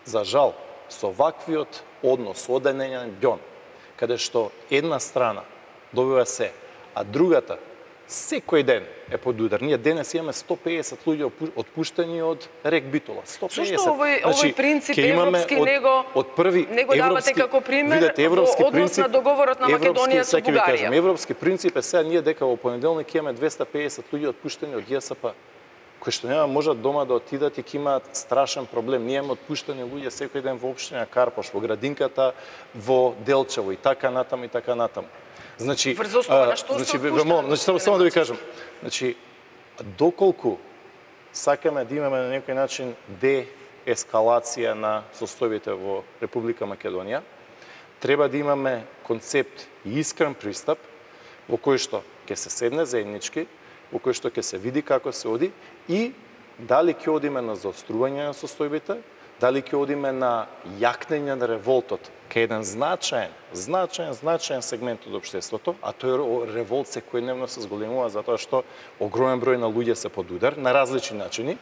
За жал, со ваквиот однос, одделен бјон, каде што една страна добива се, а другата секој ден е под удар. Ние денес имаме 150 луѓе отпуштени од Рек Битола. 150. Зошто овој принцип европски него давате како пример во однос на договорот на Македонија со Бугарија? Европски принцип е сега ние дека во понеделник имаме 250 луѓе отпуштени од ЈСП, кои што нема можат дома да отидат и ќе имаат страшен проблем. Ние имаме отпуштени луѓе секој ден во општина Карпош, во Градинката, во Делчево и така натаму и така натаму. Значи, само да ви кажам, значи, доколку сакаме да имаме на некој начин деескалација на состојбите во Република Македонија, треба да имаме концепт и искрен пристап во кој што ќе се седне заеднички, во кој што ќе се види како се оди и дали ќе одиме на заострување на состојбите, дали ќе одиме на јакнење на револтот кај еден значаен сегмент од општеството, а тој револт секојдневно се зголемува затоа што огромен број на луѓе се под удар на различни начини.